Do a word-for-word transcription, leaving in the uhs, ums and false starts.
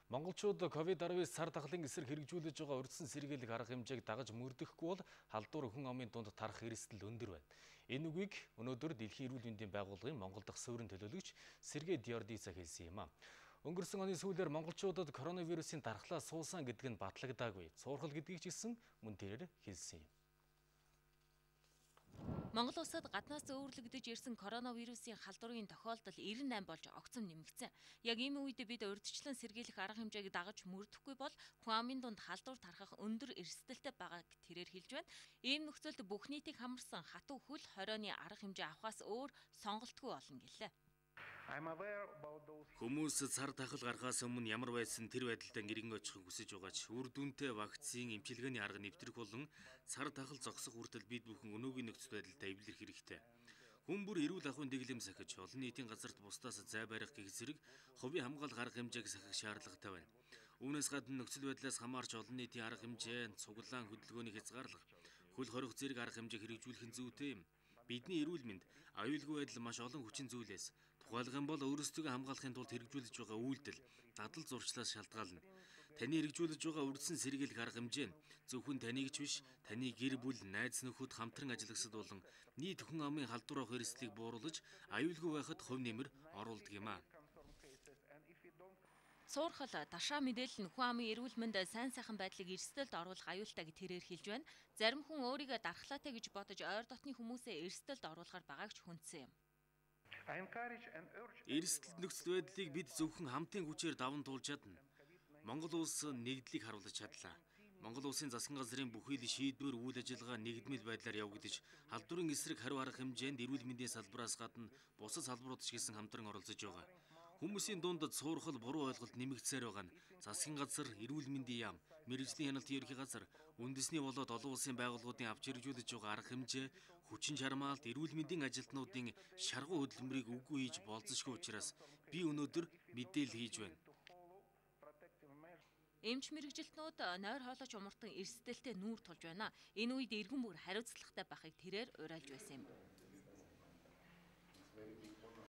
Монголчууд ковид дасавь сар дахлын эсрэг хэрэгжүүлж байгаа урьдчилан сэргийлэх арга хэмжээг дагаж мөрдөхгүй бол халдвар хүн амын дунд тарах эрсдэл өндөр байна. Энэ үгийг өнөөдөр Дэлхийн эрүүл мэндийн байгууллагын Монгол дахь суурин төлөөлөгч Сергей Диордица хэлсэн юм а. Өнгөрсөн оны сүүлээр монголчуудад коронавирусын дархлаа суусан гэдэг нь батлагдаагүй. Цуурхал гэдгийг ч гэсэн мөн тэрээр хэлсэн юм. Монгол улсад гаднаас зөөвөрлөгдөж ирсэн коронавирусын халдварын тохиолдол найман болж огцом нэмэгдсэн. Яг ийм үед бид урьдчилан сэргийлэх арга хэмжээг дагаж мөрдөхгүй бол хүн амын дунд халдвар тархах өндөр эрсдэлтэй байгааг тэрээр хэлж байна. Ийм нөхцөлд бүх нийтийг хамарсан хатуу хөл хорионы арга хэмжээ авахаас өөр сонголтгүй болно гэлээ. Хүмүүс цар тахал гарахаас өмнө ямар байсан тэр байдалтай нэрнг очихыг хүсэж байгаа ч үр дүнтэй вакцины эмчилгээний арга нэвтрэх болон цар тахал зогсох хүртэл бид бүхэн өнөөгийн нөхцөл байдалтай эвлэрэх хэрэгтэй. Хүн бүр эрүүл ахуйн дэглэм сахиж олон нийтийн газарт бусдаас зай барих гэх зэрэг хувийн хамгаалах арга хэмжээг сахих шаардлагатай байна. Үүнээс гадна нөхцөл байдлаас хамаарч олон нийтийн арга хэмжээ, цуглаан хөдөлгөөний хязгаарлах, хөл хорих зэрэг арга хэмжээ хэрэгжүүлэх нь зүйтэй юм. Бидний эрүүл мэнд, аюулгүй байдал маш олон хүчин зүйлээс, тухайлах юм бол өөрсдөө хамгаалахын тулд хэрэгжүүлж байгаа үйлдэл, дадал зурчлаас шалтгаална. Таны хэрэгжүүлж байгаа урьдчилан сэргийлэх арга хэмжээ нь зөвхөн таныг ч биш, таны гэр бүл, найз нөхөд хамтран ажиллагсад болон нийт хүн амын халдвар авах эрсдлийг бууруулж, аюулгүй байхад хувь нэмэр оруулдаг юм а. Цуурхал дашаа мэдээлэл нь хүн амын эрүүл мэнд сайн сайхан байдлыг эрсдэлд оруулах аюултай гэж тэрээр хэлж байна. Зарим хүн өөрийгөө дархлаатай гэж бодож ойр дотны хүмүүсээ эрсдэлд оруулахар байгааг ч хүндсэн юм. Эрсдэл нөхцөл байдлыг бид зөвхөн хамтын хүчээр даван туулж чадна. Монгол улс нэгдлийг харуулж чадлаа. Монгол улсын засгийн газрын бүхий л шийдвэр үйл ажиллагаа нэгдмэл байдлаар явагдаж, халдварын эсрэг хариу арга хэмжээнд эрүүл мэндийн салбараас гадна бусад салбарууд ч гэсэн хамтран оролцож байгаа. Хүмүүсийн дунд цуурхал буруу ойлголт нэмэгдсээр байгаа нь засгийн газар, эрүүл мэндийн яам, мэргэжлийн хяналтын ерхий газар, үндэсний болоод олон улсын байгууллагуудын авч хэрэгжүүлж байгаа арга хэмжээ, хүчин чармаалт, эрүүл мэндийн ажилтнуудын шаргуу хөдөлмөрийг үгүй хийж болзошгүй учраас би өнөөдөр мэдээлэл хийж байна. Эмч мэргэжилтнүүд нойр хоолойч умартан эрсдэлтэй нүүр тулж байна. Энэ үед эргэн бүр хариуцлагатай байхыг тэрээр уриалж байсан юм.